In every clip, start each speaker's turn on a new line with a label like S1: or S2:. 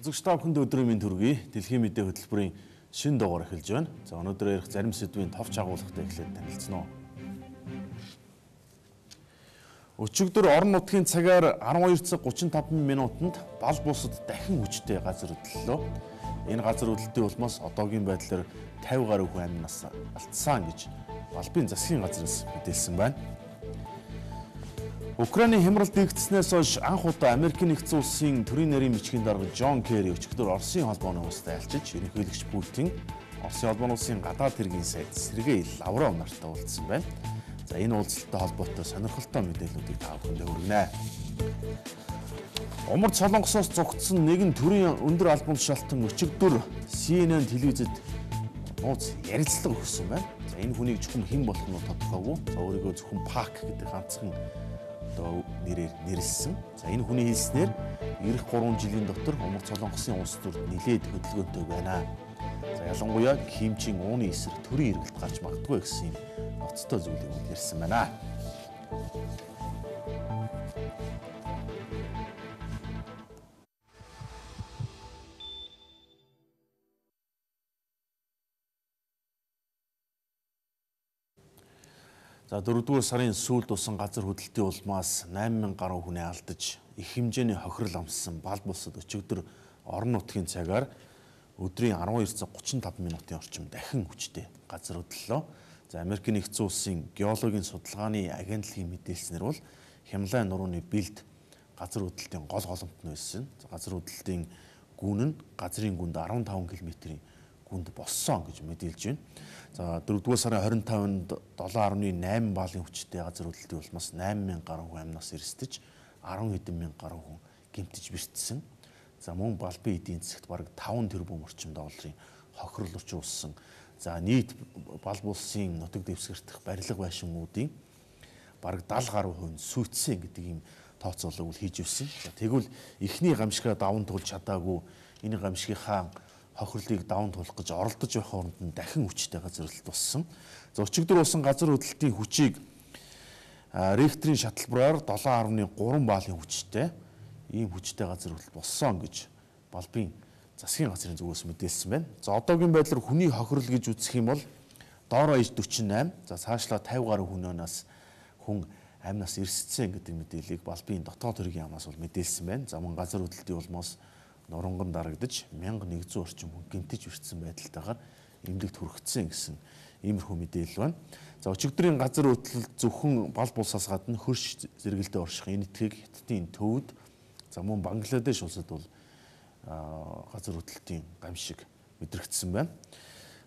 S1: Үзэгч та бүхэнд өдрийн мэнд хүргэе. Дэлхийн мэдээ хөтөлбөрийн шинэ дугаар эхэлж байна. За өнөөдөр ярих зарим сэдвийн товч агуулгатай эхлээд танилцсан уу. Өчигдөр орон нутгийн цагаар 12 цаг 35 минутанд бал бусад дахин хүчтэй газар хөдлөлөө. Энэ газар хөдлөлтийн улмаас одоогийн байдлаар 50 гаруй хүн амнаас алдсан гэж Балбын засгийн газраас мэдээлсэн байна. Украины хямрал дэгдснээс хойш анх удаа Америкийн нэгдсэн улсын төрийн нарийн бичгийн дарга Жон Керри өчигдөр Оросын холбооны улстай альчиж ерөнхийлөгч Путин, Оросын холбооны улсын гадаад хэргийн сайд Сергей Лавров нартай уулзсан байна. За энэ уулзалттай холбоотой сонирхолтой мэдээллүүдийг та бүхэндээ хүргэнэ. Умар Солонгосоос зугтсан нэгэн төрийн өндөр албан тушаалтан өчигдөр CNN телевизэд нууц ярилцлага өгсөн байна. За энэ хүнийг зөвхөн хэн болох нь тодорхойгүй. За өөрийгөө зөвхөн Пак гэдэг ганцхан нэрээр нэрлсэн. За энэ хүний хэлснээр эх 3 жилийн дотор Умар Солонгосын улс төрд нэлээд хөдөлгөөнтэй байна. За ялангуяа Кимчийн ууны эсрэг төрийн эргэлт гарч магадгүй гэсэн ноцтой зүйлийг ярьсан байна. За 4-р сарын сүүлд усан газар хөдлөлтийн улмаас 8000 гаруй хүнээ алдаж их хэмжээний хохирол амссан бал бусад өчигдөр орон нутгийн цагаар өдрийн 12 цаг 35 минутын орчим дахин хүчтэй газар хөдлөлөө. За Америкийн нэгдсэн улсын геологийн судалгааны агентлагийн мэдээлснээр бол Хямлайн нурууны бэлд газар хөдлөлтийн гол голомт нь байсан. Газар хөдлөлтийн гүн нь газрын гүнд 15 км-ийн гүнд боссон гэж мэдээлж байна. За 4-р сарын 25-нд 7.8 балын хүчтэй газар хөдлөлтийн улмаас 8000 гаруй хүн амнаас эрсдэж 10 хэдэн мянга гаруй хүн гэмтэж бэртсэн. За мөн Балбын эдийн засагт бараг 5 тэрбум орчим долларын хохирол учруулсан. За нийт бал булсын нутаг дэвсгэртэх барилга байшингуудын бараг 70 гаруй хувь сүйтсэн гэдэг ийм тооцоолог хийж өссөн. За тэгвэл эхний гамшигаа даван туулж чадаагүй энэ гамшигийнхаа хохирлыг даван туулах гэж оролдож байх оронд нь дахин хүчтэй газар хөдлөлт болсон. За өчигдөр усан газар хөдлөлтийн хүчийг Рихтерийн шаталбараар 7.3 балын хүчтэй ийм хүчтэй газар хөдлөлт болсон гэж Балбын засгийн газрын зүгээс мэдээлсэн байна. За одоогийн байдлаар хүний хохирол гэж үзэх юм бол доороо иж 48, за цаашлаа 50 гаруй хүн амнаас эрсдсэн гэдэг мэдээллийг Балбын дотоод хэргийн яамнаас бол мэдээлсэн байна. За мөн газар хөдлөлтийн улмаас нуранган дарагдаж 1100 орчим хүн гэмтэж бэртсэн байдалтайгаар эмнэлэгт хүрэгдсэн гэсэн иймэрхүү мэдээлэл байна. За өчигдрийн газар хөдлөлт зөвхөн бал булсаас гадна хөрш зэрэгэлдээ орших энэ этгийг Хятадын төвд, за мөн Бангладеш улсад бол газар хөдлөлтийн гамшиг мэдрэгдсэн байна.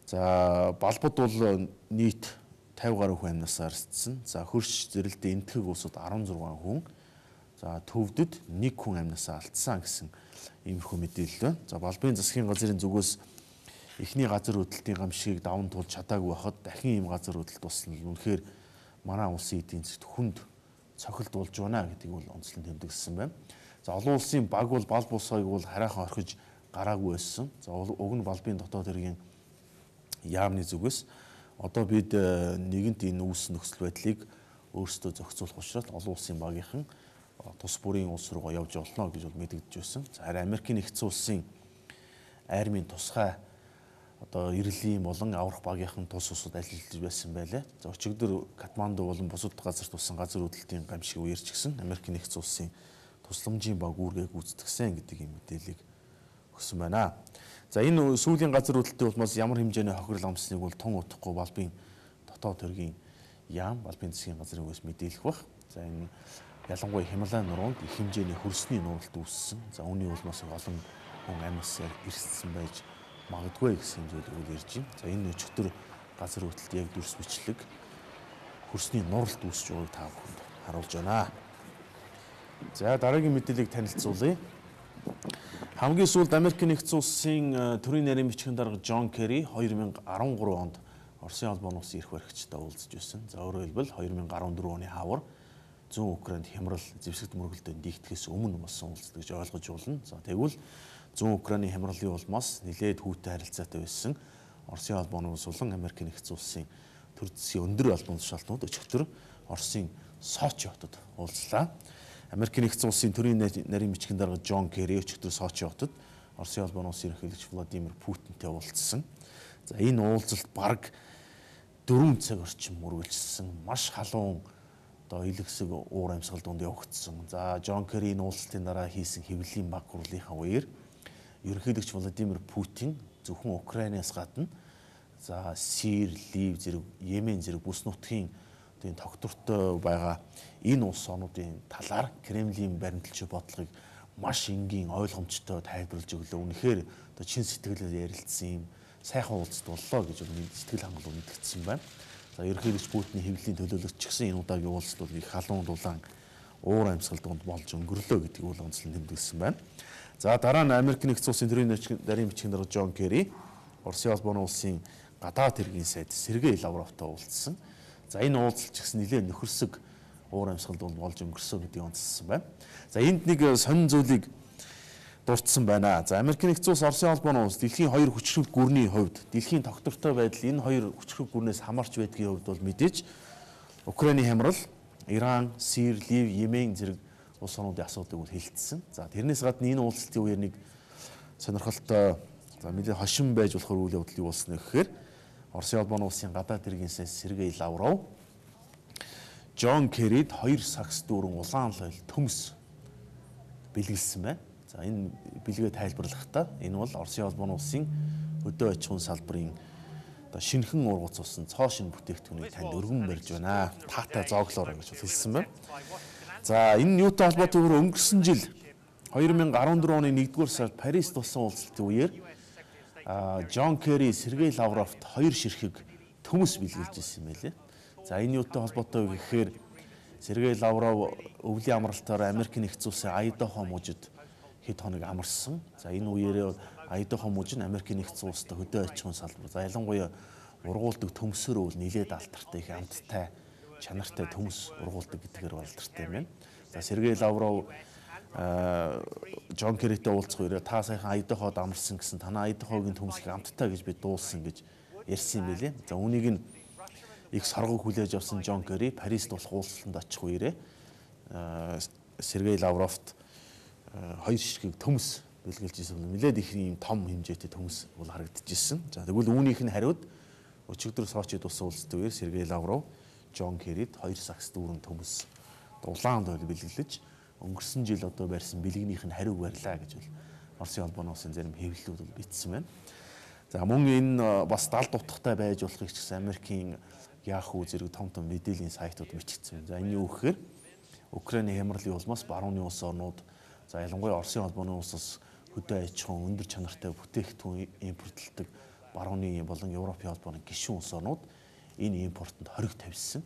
S1: За балбад бол нийт 50 гаруй хүн амнаас арстсан. За хөрш зэрэлдээ энтгэг улсад 16 хүн, за төвдөд 1 хүн амнаас алдсан гэсэн иймэрхүү мэдээлэл байна. За Балбын засгийн газрын зүгээс эхний газар хөдлөлтийн гамшигыг даван туулж чадаагүй байхад дахин ийм газар хөдлөлт болсон нь үнэхээр манай улсын эдийн засгт хүнд цохилт болж байна гэдгийг бол онцлон тэмдэглэсэн байна. За олон улсын баг бол бал бусгыг бол хараахан орхиж гараагүй байсан. За уг нь Балбын дотоод хэргийн яамны зүгээс одоо бид нэгэнт энэ үүс нөхцөл байдлыг өөрсдөө зохицуулах учраас олон улсын багийнхан тус бүрийн улс руу явж олно гэж бол мэдэгдэж байсан. За харин Америкийн нэгдсэн улсын армийн тусгай одоо иргэлийн болон аврах багийнхан тус усад ажиллаж байсан байлаа. За өчигдөр Катманду болон бусад газарт тусан газар хөдлөлтийн гамшиг үерч гисэн Америкийн нэгдсэн улсын тусламжийн баг үүргээ гүйцэтгэсэн гэдэг ийм мэдээллийг өгсөн байна. За энэ сүүлийн газар хөдлөлтийн улмаас ямар хэмжээний хохирол амсныг бол тун утахгүй Балбын дотоод хэргийн яам Балбын засгийн газрын үгээс мэдээлэх бах. За энэ ялангуяа Хямлайн нуруунд их хэмжээний хөрсний нуралт үүссэн. За үүний улмаас олон хүн амнаас эрсдсэн байж магадгүй гэсэн зүйлийг ярьж байна. За энэ өчигдөр газар хөдлөлт яг дүрс бичлэг хөрсний нуралт үүсэж байгааг та бүхэнд харуулж байна. За дараагийн мэдээллийг танилцуулъя. Хамгийн сүүлд Америкийн нэгдсэн улсын төрийн нарийн бичгийн дарга Жон Керри 2013 онд Оросын холбооны улсын эрх баригчтай уулзж байсан. За өөрөөр хэлбэл 2014 оны хавар зүүн Украинд хямрал зэвсэгт мөргөлдөнд диигдэхээс өмнө болсон уулзалт гэж ойлгож болно. За тэгвэл зүүн Украины хямралын улмаас нэлээд хүүтэй харилцаатай байсан Оросын холбооны улс болон Америкийн нэгдсэн улсын төр засгийн өндөр албан тушаалтнууд өчигдөр Оросын Сочи хотод уулзлаа. Америкийн нэгдсэн улсын төрийн нарийн бичгийн дарга Жон Керри өчигдөр Сочи хотод Оросын улбаны улсын ерөнхийлөгч Владимир Путинтэй уулзсан. За энэ уулзалт бараг 4 цаг орчим үргэлжилсэн. Маш халуун одоо илгэсэг уур амьсгал донд явагдсан. За Жон Керри энэ уулзалтын дараа хийсэн хэвлэлийн баг хурлынхаа үеэр ерөнхийлөгч Владимир Путин зөвхөн Украинаас гадна за Сир, Лив зэрэг Йемен зэрэг бүс нутгийн одоо тогтвортой байгаа энэ улс орнуудын талаар Кремлийн баримталчийн бодлогыг маш энгийн ойлгомжтой тайлбарлаж өглөө. Үнэхээр одоо чин сэтгэлээр ярилцсан юм сайхан уулзалт боллоо гэж сэтгэл хангалуун мэдгдсэн байна. За ерөнхийлөгч Путиний хэвлэлийн төлөөлөгч ч гэсэн энэ удаагийн уулзалт бол их халуун дулаан уур амьсгал донд болж өнгөрлөө гэдгийг уул онцлон тэмдэглэсэн байна. За дараа нь Америк нэгдсэн улсын төрийн нарийн бичгийн дарга Жон Керри Оросын улбаны улсын гадаад хэргийн сайд Сергей Лавровтой уулзсан. За энэ уулзалт ч гэсэн нэлээд нөхөрсөг уур амьсгал донд болж өнгөрсөн гэдгийг онцлсан байна. За энд нэг сонин зүйлийг дурдсан байна. За Америк нэгдсэн улс Оросын улбаны улс дэлхийн хоёр хүчрэг гүрний хувьд дэлхийн тогтвортой байдал энэ хоёр хүчрэг гүрнээс хамаарч байдгийн хувьд бол мэдээж Украины хямрал, Иран, Сир, Лив, Йемен зэрэг улс орнуудын асуудлыг бол хэлэлцсэн. За тэрнээс гадна энэ уулзалтын үеэр нэг сонирхолтой за нэлээд хошин байж болохоор үйл явдал юу болсон гэхээр Оросын улбаны улсын гадаад хэргийн сайд Сергей Лавров Жон Керрид 2 сакс дүүрэн улаан лойл төмс бэлгэлсэн байна. За энэ бэлгээ тайлбарлахдаа энэ бол Оросын улбаны улсын хөдөө аж ахуйн салбарын одоо шинэхэн ургуцсан цоо шин бүтээгдэхүүнийг танд өргөн барьж байна. Таатай зооглоорой гэж хэлсэн байна. За энэ юутай холбоотой вэ? Өнгөрсөн жил 2014 оны 1-р сард Парист болсон уулзалтын үеэр Жон Керри Сергей Лавровт 2 ширхэг төмс бэлгэлж ирсэн юм байлээ. За энэ юутай холбоотой вэ гэхээр Сергей Лавров өвлийн амралтаар Америк нэгдсэн улсын Айдахо мужид хэд хоног амарсан. За энэ үеэр Айдахо мужид Америк нэгдсэн улстай хөдөө аж ахуйн салбар. За ялангуяа ургуулдаг төмсөөр бол нэлээд алдартай их амттай чанартай төмс ургуулдаг гэдгээр алдартай юм байна. За Сергей Лавров Жон Керритэй уулзах үеэр та сайхан Айдаход амарсан гэсэн танаа Айдахогийн төмсийг амттай гэж би дуулсан гэж ярьсан юм байлээ. За үүнийг нь их соргог хүлээж авсан Жон Керри Парист болох уулзалтанд очих үеэрээ Сергей Лавровт 2 ширхэг төмс бэлгэлж ирсэн. Нэлээд их юм том хэмжээтэй төмс бол харагдчихсэн. За тэгвэл үүнийх нь хариуд өчигдөр Сочид болсон уулзалтын үеэр Сергей Лавров Жон Керрид 2 сакс дүүрэн төмс улаан лойл бэлгэлж өнгөрсөн жил одоо барьсан бэлгнийх нь хариуг барьлаа гэж бол Оросын улбаны улсын зарим хэвлэлүүд бол бичсэн байна. За мөн энэ бас далд утгатай байж болохыг ч гэсэн Америкийн Yahoo зэрэг том мэдээллийн сайтууд бичигдсэн. За энэ юу гэхээр Украины хямралын улмаас барууны улс орнууд за ялангуяа Оросын улбаны улсаас хөдөө аж ахуйн өндөр чанартай бүтээгдэхүүн импортлдог барууны болон Европын холбооны гишүүн улс орнууд энэ импортод хориг тавьсан.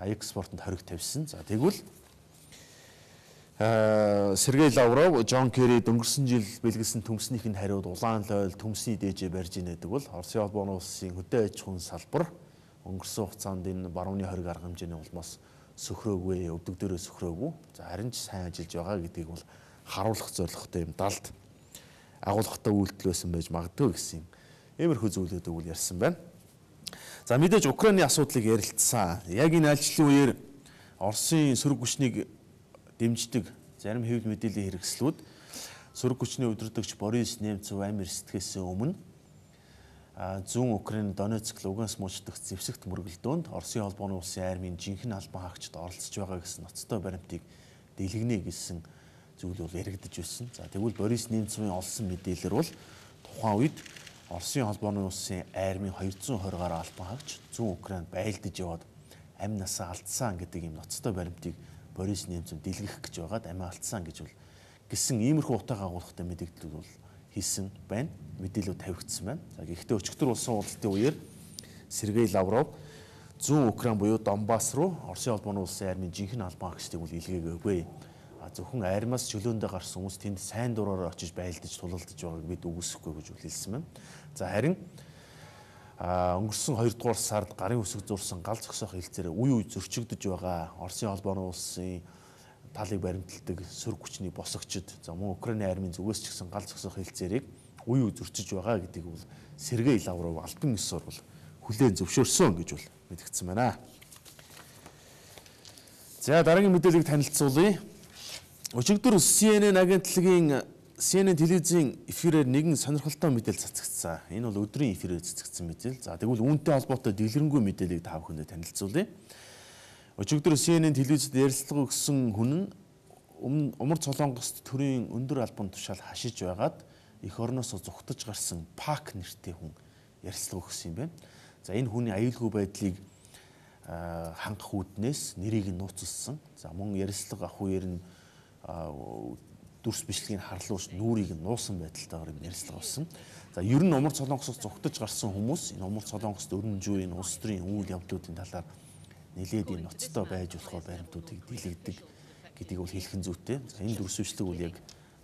S1: Экспортод хориг тавьсан. За тэгвэл Сергей Лавров Жон Керрид өнгөрсөн жил бэлгэлсэн төмснийх нь хариуд улаан лойл төмсний дээжээ барьж ийнэ гэдэг бол Оросын улбаны улсын хөдөө аж ахуйн салбар өнгөрсөн хугацаанд энэ барууны хориг арга хэмжээний улмаас сөхрөөгүй, өвдөг дээрээ сөхрөөгүй. За харин ч сайн ажиллаж байгаа гэдгийг бол харуулах зорилготой юм далд агуулгатай үйлдэл байсан байж магадгүй гэсэн иймэрхүү зүйлүүдийг бол ярьсан байна. За мэдээж Украины асуудлыг ярилцсан. Яг энэ альчлалын үеэр Оросын сөрөг хүчнийг дэмждэг зарим хэвлэл мэдээллийн хэрэгслүүд сөрөг хүчний удирдагч Борис Немцов амир сэтгэхээс өмнө зүүн Украины Донецк, Луганск мужидах зэвсэгт мөргөлдөөнд Оросын холбооны улсын армийн жинхэнэ албан хаагчид оролцож байгаа гэсэн ноцтой баримтыг дэлгэнэ гэсэн зүйл бол яригдж байсан. За тэгвэл Борис Немцовын олсон мэдээлэлээр бол тухайн үед Оросын холбооны улсын армийн 220 гаруй албан хаагч зүүн Украинд байлдаж яваад амь насаа алдсан гэдэг юм ноцтой баримтыг Борис Немцов дэлгэх гэж байгаад амиа алдсан гэж бол гисэн иймэрхүү утга агуулгатай мэдээлэл бол хийсэн байна. Мэдээлэл тавигдсан байна. За гэхдээ өчигдөр болсон уулзалтын үеэр Сергей Лавров зүүн Украин буюу Донбасс руу Оросын холбооны улсын армийн жинхэнэ албан хаагчдыг бол илгээгээгүй. Зөвхөн армиас чөлөөндөө гарсан хүмүүс тэнд сайн дураар очиж байлдаж тулалдаж байгааг бид үгүйсэхгүй гэж хэлсэн байна. За харин өнгөрсөн 2 дугаар сард гарын үсэг зурсан гал зогсоох хэлцээрээ үе зөрчигдөж байгаа Оросын холбооны улсын талыг баримталдаг сөрөг хүчний босгочд за мөн Украины армийн зүгээс ч гэсэн гал зогсоох хэлцээрийг үе зөрчиж байгаа гэдгийг бол Сергей Лавров албан ёсоор бол хүлээн зөвшөөрсөн гэж бол мэдгдсэн байна. За дараагийн мэдээллийг танилцуулъя. Өчигдөр CNN агентлагийн CNN телевизийн эфирээр нэгэн сонирхолтой мэдээлэл цацагдсан. Энэ бол өдрийн эфирээр цацагдсан мэдээлэл. За тэгвэл үүнтэй холбоотой дэлгэрэнгүй мэдээллийг та бүхэндээ танилцуулъя. Өчигдөр CNN телевизэд ярилцлага өгсөн хүн нь Умар Солонгост төрийн өндөр албан тушаал хашиж байгаад эх орноосоо зүхтаж гарсан Пак нэртэй хүн ярилцлага өгсөн юм байна. За энэ хүний аюулгүй байдлыг хангах үүднээс нэрийг нь нууцлсан. За мөн ярилцлага ах үеэр нь дүрс бичлэгийг харлуулж нүрийг нь нуусан байдалтайгаар юм ярилцлага болсон. За ер нь Умар Солонгосоос зүхтаж гарсан хүмүүс энэ Умар Солонгост өрнөжийн улс төрийн үйл явдлуудын талаар нэлээд энэ ноцтой байж болохоор баримтуудыг дийлэгдэг гэдгийг бол хэлэх нь зүйтэй. За энэ дүрс бичлэг үл яг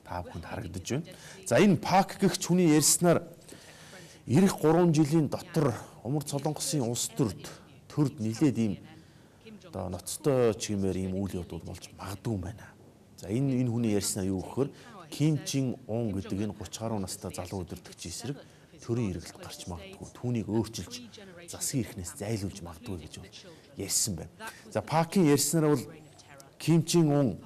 S1: та бүхэнд харагдаж байна. За энэ Пак гэх хүний ярьснаар ирэх 3 жилийн дотор Умар Солонгосын улс төрд нэлээд ийм одоо ноцтой чимээр ийм үйл явдал болж магадгүй юм байна. За энэ хүний ярьснаа юу гэхээр Ким Чин Ун гэдэг энэ 30 гаруй настай залуу удирдагч эсрэг төрийн эргэлт гарч магадгүй. Түүнийг өөрчилж засгийн эрхнээс зайлуулж магадгүй гэж бол ярьсан байна. За Пакийн ярьснаар бол Ким Чин Ун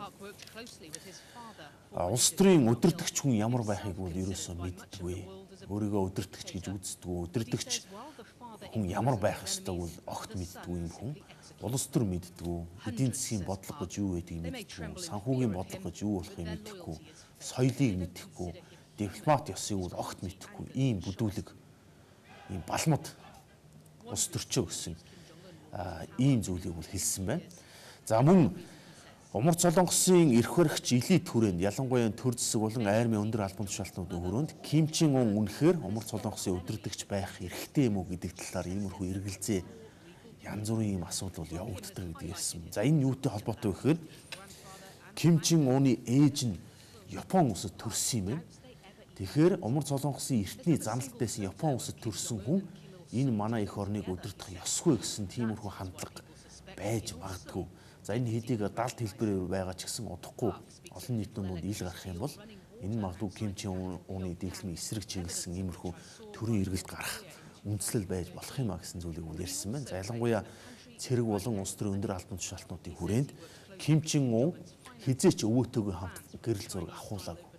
S1: улс төрийн удирдагч хүн ямар байхыг бол ерөөсөө мэддэггүй. Өөрийгөө удирдагч гэж үздэггүй. Удирдагч хүн ямар байх ёстойг бол огт мэддэггүй юм хүн. Улс төр мэддэггүй. Эдийн засгийн бодлого гэж юу байдгийг мэддэггүй. Санхүүгийн бодлого гэж юу болохыг мэддэггүй. Соёлыг мэддэггүй. Дипломат ёсыг бол огт мэддэггүй. Ийм бүдүүлэг, ийм балмад улс төрчөө гэсэн ийм зүйлийг бол хэлсэн байна. За мөн Умар Солонгосын эрх баригч элит хүрээнд ялангуяа төр засаг болон армийн өндөр албан тушаалтнуудын хүрээнд Ким Чин Ун үнэхээр Умар Солонгосын удирдагч байх эрхтэй юм уу гэдэг талаар иймэрхүү эргэлзээ янз бүрийн ийм асуудал бол явагддаг гэдэг ярьсан. За энэ юутай холбоотой вэ гэхээр Ким Чин Уны ээж нь Япон улсад төрсөн юм байна. Тэгэхээр Умар Солонгосын эртний заналт байсан Япон улсад төрсөн хүн энэ манай эх орныг удирдах ёсгүй гэсэн тиймэрхүү хандлага байж магадгүй. За энэ хэдийг далд хэлбэрээр байгаа ч гэсэн удахгүй олон нийтийн дунд ил гарах юм бол энэ магадгүй Ким Чин Уны дэглэмийн эсрэг чиглэсэн иймэрхүү төрийн эргэлт гарах үндслэл байж болох юм а гэсэн зүйлийг үл ярьсан байна. За ялангуяа цэрэг болон улс төрийн өндөр албан тушаалтнуудын хүрээнд Ким Чин Ун хизээч өвөөтэйгөө хамт гэрэл зураг авахуулаагүй.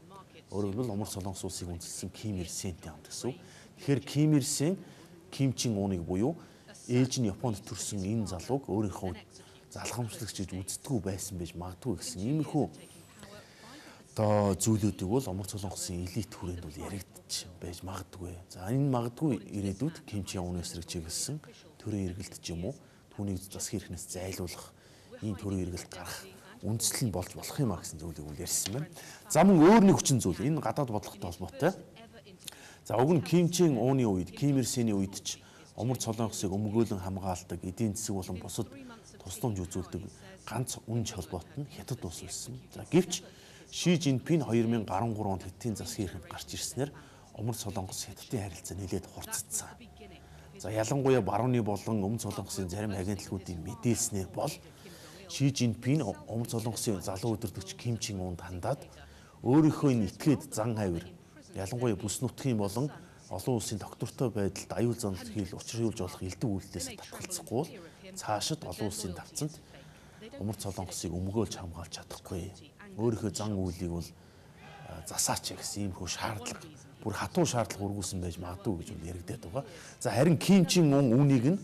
S1: Өөрөөр хэлбэл Умар Солонгос улсыг үндэслсэн Ким Ир Сентэй хамт гэсэн. Тэгэхээр Ким Ир Сен Ким Чин Уныг буюу ээж нь Японд төрсэн энэ залууг өөрийнхөө залхамжлагч гэж үздэггүй байсан байж магадгүй гэсэн иймэрхүү одоо зүйлүүдийг бол Умар Солонгосын элит хүрээнд бол яригдчих байж магадгүй. За энэ магадгүй ирээдүйд Ким Чин Уны эсрэг чиглэсэн төрийн эргэлт ч юм уу түүнийг засгийн эрхнээс зайлуулах ийм төрийн эргэлт гарах үндсэл нь болж болох юм а гэсэн зүйлийг бол ярьсан байна. За мөн өөр нэг хүчин зүйл энэ гадаад бодлоготой холбоотой. За уг нь Ким Чин Уны үед Ким Ир Сений үед ч Умар Солонгосыг өмгөөлөн хамгаалдаг эдийн засаг болон бусад тусламж үзүүлдэг ганц үнж холбоот нь Хятад улс байсан. За гэвч Ши Жинпин 2013 онд Хятадын засгийн эрхэнд гарч ирснээр Умар Солонгос Хятадын харилцаа нэлээд хурцдсан. За ялангуяа барууны болон Өмнө Солонгосын зарим агентлагуудын мэдээлснээр бол Ши Жинпин Умар Солонгосын залуу удирдагч Ким Чин Унд хандаад өөрийнхөө энэ этгээд зан авир ялангуяа бүс нутгийн болон олон улсын доктортой байдалд аюул занал хийл учруулж болох элдв үйлдэлээс татгалзахгүй бол цаашид олон улсын давцанд Умар Солонгосыг өмгөөлж хамгаалж чадахгүй. Өөрийнхөө зан үйлийг бол засаач гэсэн иймэрхүү шаардлага, бүр хатуу шаардлага өргүүлсэн байж магадгүй гэж яригдаад байгаа. За харин Ким Чин Ун үүнийг нь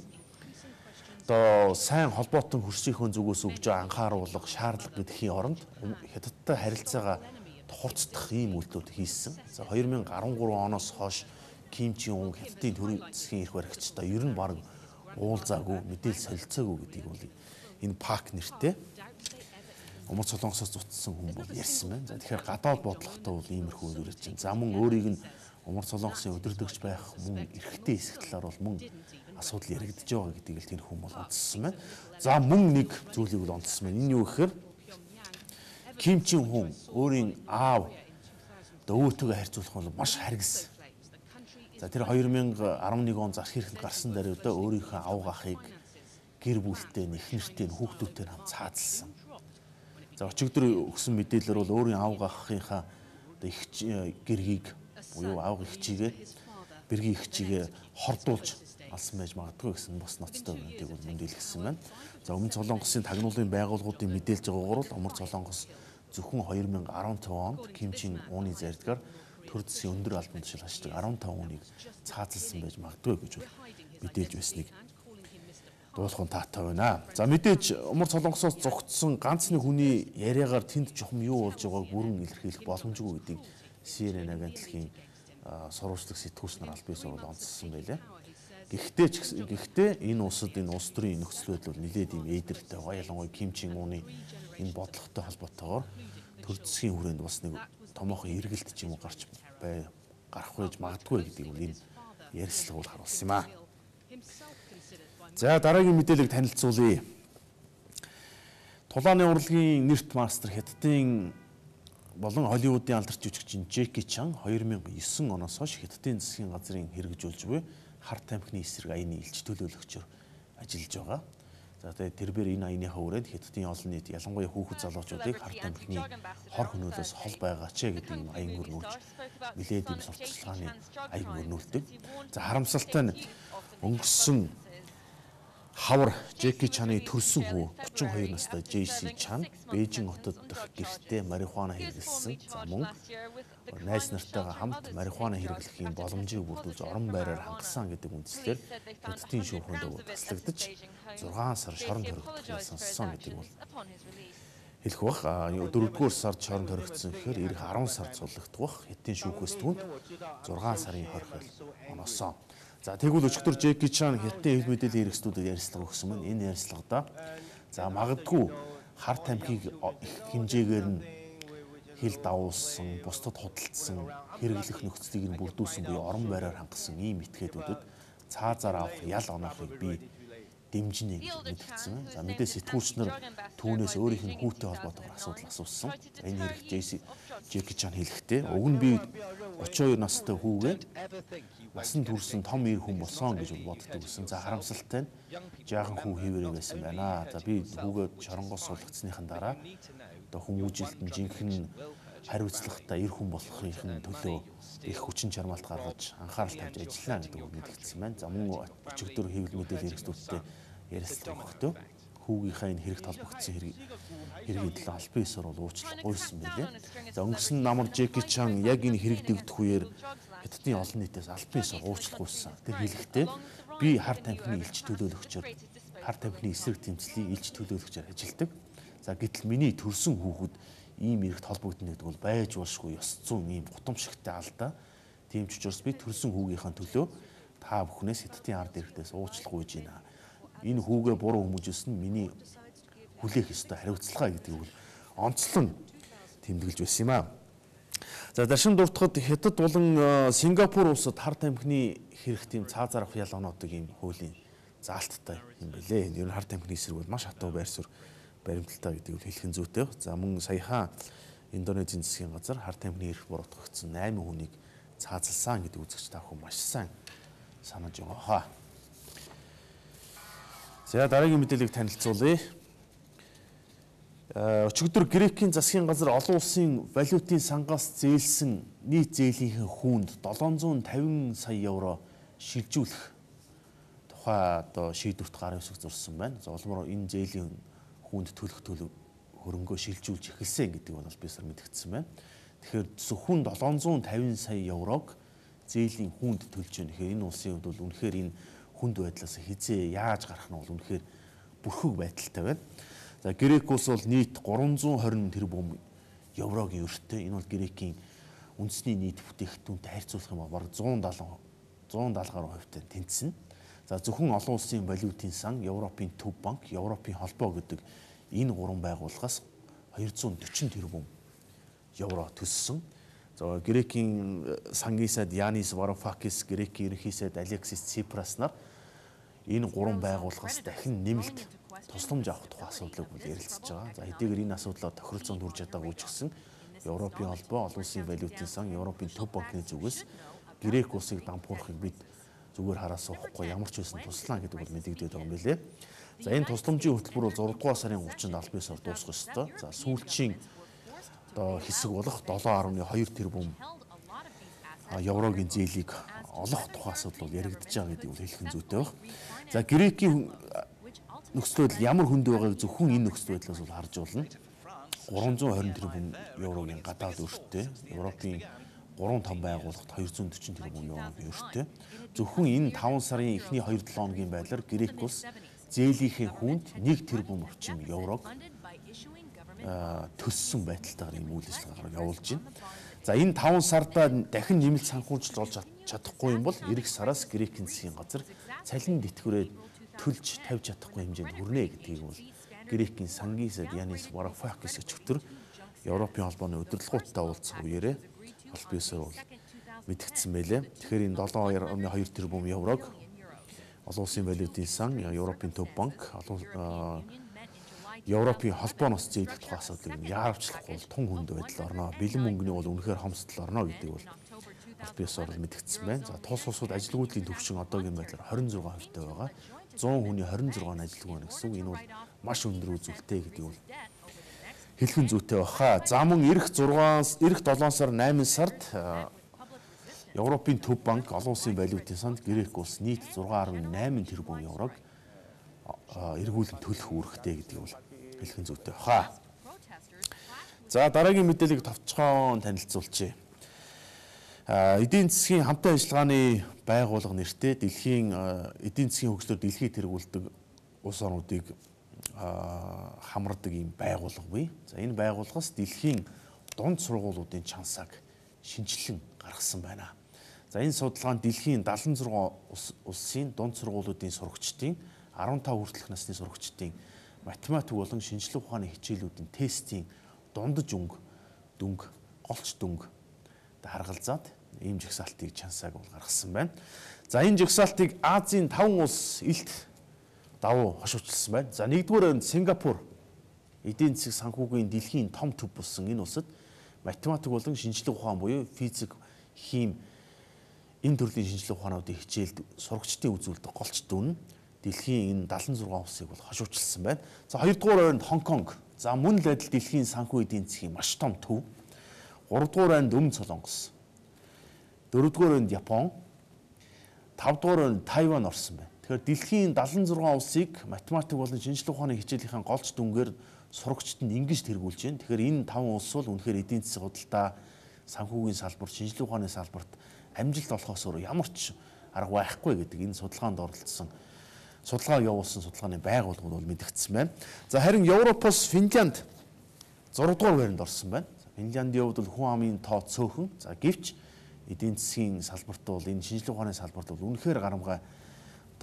S1: одоо сайн холбоотон хөрсийнхөө зүгээс өгж анхааруулах шаардлага гэдгийн оронд Хятадтай харилцаагаа хурцдах ийм үйлдэлүүд хийсэн. За 2013 оноос хойш Ким Чин Ун Хятадын төрийн засгийн эрх баригчтай ер нь баг уулзаагүй, мэдээлэл солилцоогүй гэдгийг бол энэ Пак нэртэй Умар Солонгосоос зутсан хүн бол ярьсан байна. За тэгэхээр гадаад бодлоготой бол иймэрхүү үйлрэж чинь. За мөн өөрийг нь Умар Солонгосын удирдагч байх мөн эрхтэй хэсэг талаар бол мөн асуудал яригдж байгаа гэдгийг л тэр хүн бол онцлсан байна. За мөн нэг зүйлийг бол онцлсан байна. Энэ юу гэхээр Ким Чин Ун өөрийн аав өвөөтэйгээ харьцуулах бол маш харгис. За тэр 2011 он засгийн эрхэнд гарсан даруйдаа өөрийнхөө авга ахыг гэр бүлтэй, эхнэртэй, хүүхдүүдтэй хамт цаазалсан. За өчигдөр өгсөн мэдээлэлээр бол өөрийн авга ахынхаа их гэргийг буюу авга ихчигээ бэргийн ихчигээ хордуулж алсан байж магадгүй гэсэн бос ноцтой үнэнийг бол мэдээлсэн байна. За Өмнө Солонгосын тагнуулын байгууллагуудын мэдээлж байгаагаар бол Умар Солонгос зөвхөн 2015 онд Кимчийн ууны зарилгаар төр засгийн өндөр албан тушаал хашдаг 15 хүнийг цаазалсан байж магадгүй гэж мэдээлж байсныг дуулахын таатай байна. За мэдээж Умар Солонгосоос зогтсон ганц нэг хүний яриагаар тэнд чухам юу болж байгааг бүрэн илэрхийлэх боломжгүй гэдгийг CNN агентлагийн сурвалжлах сэтгүүлч нар аль биесээр онцлсан байлаа. Гэхдээ энэ улсад энэ улс төрийн нөхцөл байдал бол нэлээд юм ээдэртэй байгаа. Ялангуяа Кимчийн ууны энэ бодлоготой холбоотойгоор төр засгийн хүрээнд бас нэг томоохон эргэлт ч юм уу гарах байж магадгүй гэдгийг энэ ярилцлага бол харуулсан юм аа. За дараагийн мэдээллийг танилцуулъя. Тулааны урлагийн нэрт мастер Хятадын болон Холливуудын алдарч жүжигчин Жеки Чан 2009 оноос хойш Хятадын засгийн газрын хэрэгжүүлж буй харт тамхины эсрэг аяны илч төлөөлөгчөөр ажиллаж байгаа. За тэгээд тэрээр энэ аяныхаа хүрээнд Хятадын олон нийт ялангуяа хүүхэд залуучуудыг харт тамхины хор хөнөөлөөс хол байгаач гэдэг юм аян өрнүүлж нэлээд юм сурталчилгааны аян өрнүүлдэг. За харамсалтай нь өнгөрсөн хавар Жеки Чаны төрсөн хүү 32 настай JC Чан Бээжин хотод дэх гэртээ марихуана хэрэглэсэн. За мөн найз нартайгаа хамт марихуана хэрэглэхийн боломжийг бүрдүүлж орон байраар хангасан гэдэг үндслээр Хятадын шүүхэнд таслагдаж 6 сар шоронд хоригдох сонссон гэдэг бол хэлэх бах. 4-р сард шоронд хоригдсон гэхээр эх 10 сард суллагдах бах. Хятадын шүүхээс түүнд 6 сарын хоригдол оноосон. За тэгвэл өчигдөр Жеки Чан Хятадын хэл мэдээллийн хэрэгслүүдэд ярилцлага өгсөн мөн энэ ярилцлагада за магадгүй харт тамхиг их хэмжээгээр нь хил давуулсан, бусдад худалдсан, хэрэглэх нөхцөлийг нь бүрдүүлсэн буюу орон байраар хангасан ийм этгээдүүдэд цаазаар авах ял оноохыг би дэмжинэ гэж мэдгдсэн. За мэдээ сэтгүүлч нар түүнээс өөрийнх нь хүүтэй холбоотойгоор асуудал асуусан. Энэ хэрэг Жеки Чан хэлэхдээ уг нь би 32 настай хүүгээ насан турсан том ир хүн болсон гэж боддог гэсэн. За харамсалтай нь жаахан хүү хэвээрээ байсан байна. За би хүүгээ шоронгоос суулгацсныхан дараа одоо хүмүүжилт нь жинхэнэ хариуцлагатай ир хүн болохын төлөө их хүчин чармаалт гаргаж анхаарал тавьж ажиллана гэдэг үг мэдгдсэн байна. За мөн өчигдөр хэвлэл мэдээлэл хэрэгслүүдтэй ярилцлага өгөхдөө хүүгийнхаа энэ хэрэгт холбогдсон хэргийн төлөө аль биесээр бол уучлал гуйсан байлээ. За өнгөрсөн намар Жеки Чан яг энэ хэрэг дэгдэх үеэр Хятадын олон нийтээс аль биесээр уучлал гуйсан. Тэр хэлэхдээ би харт тамхины илч төлөөлөгчөөр харт тамхины эсрэг тэмцлийн илч төлөөлөгчөөр ажилладаг. За гэтэл миний төрсөн хүүхэд ийм эрэгт холбогдно гэдэг бол байж болшгүй ёс зүйн ийм гутамшигтай алдаа. Тийм ч учраас би төрсөн хүүгийнхаа төлөө та бүхнээс Хятадын ард иргэдээс уучлал гуйж байна. Энэ хүүгээ буруу хүмүүжүүлсэн нь миний хүлээх ёстой хариуцлага гэдгийг бол онцлон тэмдэглэж байсан юм аа. За даршин дуртахад Хятад болон Сингапур улсад харт тамхины хэрэг тийм цаазаар авах ял оноодог ийм хуулийн заалттай юм байлээ. Ер нь харт тамхины эсрэг бол маш хатуу байр суурь баримталтай гэдгийг хэлхэн зүйтэй. За мөн саяхан Индонезийн засгийн газар харт тамхины эрх буруутгагдсан 8 хүнийг цаазалсан гэдэг үзэгч та бүхэн маш сайн санаж байгаа. За дараагийн мэдээллийг танилцуулъя. Өчигдөр Грекийн засгийн газар олон улсын валютын сангаас зээлсэн нийт зээлийнхээ хүүнд 750 сая евро шилжүүлэх тухай одоо шийдвэрт гар үсэг зурсан байна. За улмаар энэ зээлийн хүнд төлөх хөрөнгөө шилжүүлж эхэлсэн гэдэг бол бисаар мэдгдсэн байна. Тэгэхээр зөвхөн 750 сая еврог зээлийн хүнд төлж байна. Тэгэхээр энэ улсын хувьд бол үнэхээр энэ хүнд байдлаас хизээ яаж гарах нь бол үнэхээр бүрхэг байдалтай байна. За Грек улс бол нийт 320 тэрбум еврогийн өртөө. Энэ бол Грекийн үндэсний нийт бүтээгдэхүүнтэй харьцуулах юм бол бараг 170 гаруй хувьтай тэнцсэн. За зөвхөн олон улсын валютын сан, Европын төв банк, Европын холбоо гэдэг энэ гурван байгууллагаас 240 тэрбум евро төссөн. За Грекийн сангийн сайд Янис Варофакис, Грекийн ерөнхий сайд Алексис Ципрас нар энэ гурван байгууллагаас дахин нэмэлт тусламж авах тухай асуудлыг ярилцж байгаа. За хэдийгээр энэ асуудлаар тохиролцоонд хүрч чадаагүй ч гэсэн Европын холбоо, олон улсын валютын сан, Европын төв банкны зүгээс Грек улсыг дампуурахыг бид зүгээр хараа суухгүй ямар ч байсан туслаа гэдэг бол мэдэгдээд байгаа юм билээ. За энэ тусламжийн хөтөлбөр бол 6 дугаар сарын 30-нд аль биесээр дуусах ёстой. За сүүлчийн одоо хэсэг болох 7.2 тэрбум еврогийн зээлийг олох тухай асуудал бол яригдж байгаа гэдэг нь хэлхэн зүйтэй байна. За Грекийн нөхцөл байдал ямар хүнд байгааг зөвхөн энэ нөхцөл байдлаас бол харж болно. 320 тэрбум еврогийн гадаад өртөө, Европын 3 том байгууллагт 240 тэрбум еврогийн өртөө. Зөвхөн энэ 5 сарын эхний 2-7 хоногийн байдлаар Грек улс зээлийнхээ хүнд 1 тэрбум орчим еврог төссөн байдалтайгаар ийм үйл ажиллагаагаар явуулж байна. За энэ 5 сарда дахин нэмэлт санхүүжилт болж чадахгүй юм бол эх сараас Грекийн засгийн газар цалин тэтгэврээ төлж тавьж чадахгүй хэмжээнд хүрнэ гэдгийг бол Грекийн сангийн сайд Янис Варофакис өчигдөр Европын холбооны удирдлагуудтай уулзах үеэрээ аль биесээр бол мэдгдсэн байлээ. Тэгэхээр энэ 7.2 тэрбум еврог олон улсын валютын сан, Европын төв банк, Европын холбооноос зээлэх тухай асуудлыг яарвчлахгүй бол тун хүнд байдал орно. Бэлэн мөнгөний бол үнэхээр хомсдол орно гэдэг бол аль биесээр бол мэдгдсэн байна. За тус улсууд ажилгүйдлийн төвшин одоогийн байдлаар 26% байгаа. 100 хүний 26 нь ажилгүй байна гэсэн үг. Энэ бол маш өндөр үзүүлэлттэй гэдэг бол хэлхэн зүйтэй баха. За мөн эх 7 сар 8 сард Европын төв банк олон улсын валютын санд Грек улс нийт 6.8 тэрбум еврог эргүүлэн төлөх үүрэгтэй гэдэг бол хэлхэн зүйтэй баха. За дараагийн мэдээллийг товчхон танилцуулъя. Эдийн засгийн хамтын ажиллагааны байгууллага нэртэй дэлхийн эдийн засгийн хөгжлөөр дэлхийд тэргүүлдэг улс орнуудыг хамардаг ийм байгууллага бий. За энэ байгууллагаас дэлхийн дунд сургуулиудын чансааг шинжилэн гаргасан байна. За энэ судалгаанд дэлхийн 76 улсын дунд сургуулиудын сурагчдын 15 хүртэлх насны сурагчдын математик болон шинжлэх ухааны хичээлүүдийн тестийн дундаж дүнг, голч дүнг харгалзаад ийм жагсаалтыг чансааг бол гаргасан байна. За энэ жагсаалтыг Азийн 5 улс илт давуу хошуучилсан байна. За нэгдүгээр нь Сингапур эдийн засаг санхүүгийн дэлхийн том төв болсон энэ улсад математик болон шинжлэх ухаан буюу физик, хим энэ төрлийн шинжлэх ухаануудын хичээлд сурагчдын үзүүлдэг голч дүн дэлхийн энэ 76 улсыг бол хошуучилсан байна. За хоёрдугаар байранд Хонконг. За мөн л адил дэлхийн санхүү эдийн засгийн маш том төв. Гуравдугаар байранд Өмнөд Солонгос. Дөрөвдүгээр байранд Япон. Тавдугаар байранд Тайван орсон байна. Тэгэхээр дэлхийн 76 улсыг математик болон шинжлэх ухааны хичээлийнхэн голч дүнгээр сурагчдад ингэж тэргүүлж байна. Тэгэхээр энэ 5 улс бол үнэхээр эдийн засгийн худалдаа, санхүүгийн салбарт, шинжлэх ухааны салбарт амжилт олохоос өөр ямар ч арга байхгүй гэдэг энэ судалгаанд оролцсон, судалгаа явуулсан судалгааны байгууллагууд бол мэдгдсэн байна. За харин Европоос Финлянд 6 дугаар байранд орсон байна. Финляндийн хувьд бол хүн амын тоо цөөхөн. За гэвч эдийн засгийн салбарт бол энэ шинжлэх ухааны салбарт бол үнэхээр гарамгай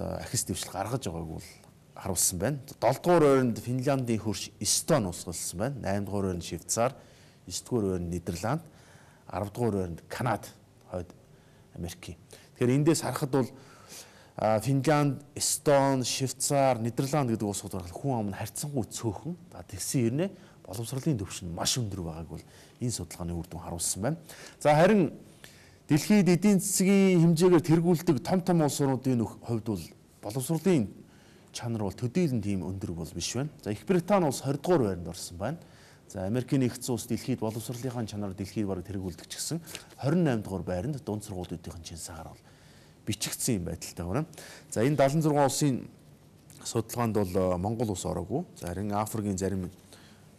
S1: ахис дэвшил гаргаж байгааг бол харуулсан байна. 7 дугаар байранд Финляндийн хөрш Эстон улс болсон байна. 8 дугаар байранд Швейцар, 9 дугаар байранд Нидерланд, 10 дугаар байранд Канада, хойд Америк. Тэгэхээр эндээс харахад бол Финлянд, Эстон, Швейцар, Нидерланд гэдэг улсууд бол хүн ам нь харьцангуй цөөхөн. Тэгсэн хэрнээ боловсролын төвшин маш өндөр байгааг бол энэ судалгааны үр дүн харуулсан байна. За харин дэлхийд эдийн засгийн хэмжээгээр тэргүүлдэг том улс орнуудын хувьд бол боловсролын чанар бол төдийлөн тийм өндөр бол биш байна. За Их Британи улс 20 дугаар байранд орсон байна. За Америкийн нэгдсэн улс дэлхийд боловсролынхаа чанараар дэлхийд бараг тэргүүлдэг ч гэсэн 28 дугаар байранд дунд сургуулиудын чансаагаар бол бичигдсэн юм байдалтай байна. За энэ 76 улсын судалгаанд бол Монгол улс ороогүй. За харин Африкийн зарим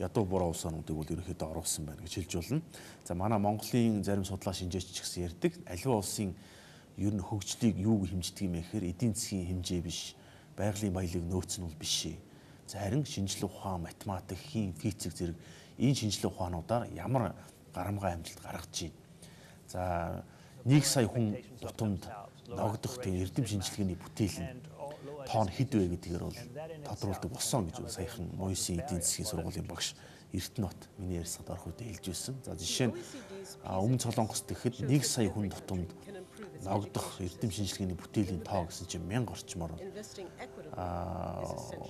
S1: ядуу буруу улс орнуудыг бол ерөнхийдөө оруулсан байна гэж хэлж болно. За манай Монголын зарим судлаа шинжээч ч гэсэн ярьдаг аливаа улсын ер нь хөгжлийг юу хэмждэг юм гэхээр эдийн засгийн хэмжээ биш, байгалийн баялаг нөөц нь бол биш. За харин шинжлэх ухаан, математик, хим, физик зэрэг энэ шинжлэх ухаануудаар ямар гарамгай амжилт гаргаж байна. За 1 сая хүн тутамд ногдох тийм эрдэм шинжилгээний бүтээл нь тоон хэд вэ гэдгээр бол тодруулдаг болсон гэж саяхан Мойсын эдийн засгийн сургуулийн багш Эрдэнэт миний ярьсад орох үедээ хэлж байсан. За жишээ нь Өмнөд Солонгост гэхэд 1 сая хүн тутамд ногдох эрдэм шинжилгээний бүтээлийн тоо гэсэн чинь 1000 орчмоор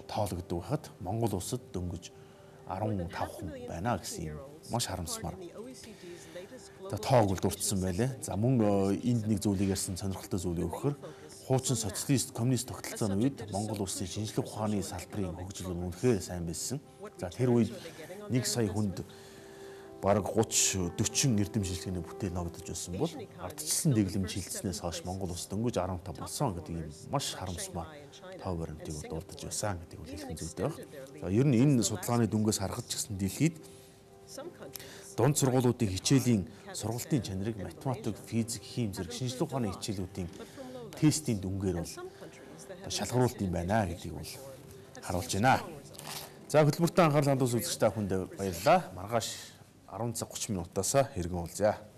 S1: тоологддог байхад Монгол улсад дөнгөж 15 хүн байна гэсэн юм маш харамсмаар тоог бол дурдсан байлээ. За мөн энд нэг зүйлийг ярьсан сонирхолтой зүйл өгөхөр хуучин социалист коммунист тогтолцооны үед Монгол улсын шинжлэх ухааны салбарын хөгжил нь үнэхээр сайн байсан. За тэр үед 1 сая хүнд бараг 30-40 эрдэм шинжилгээний бүтээл ногдож байсан бол ардчилсан дэглэмж хилцснээс хойш Монгол улс дөнгөж 15 болсон гэдэг юм маш харамсмаар тоо баримтыг дурдж байсан гэдэг үл хэлхэн зүйтэй байна. За ер нь энэ судалгааны дүнгээс харахад ч гэсэн дэлхийд Дунд сургуулиудын хичээлийн сургалтын чанарыг математик, физик, хим зэрэг шинжлэх ухааны хичээлүүдийн тестийн дүнгээр бол шалгаруулт юм байна гэдгийг бол харуулж байна. За хөтөлбөртөө анхаарал хандуус үзэгч та бүхэнд баярлалаа. Маргааш 10 цаг 30 минутаас хэргэн уулзъя.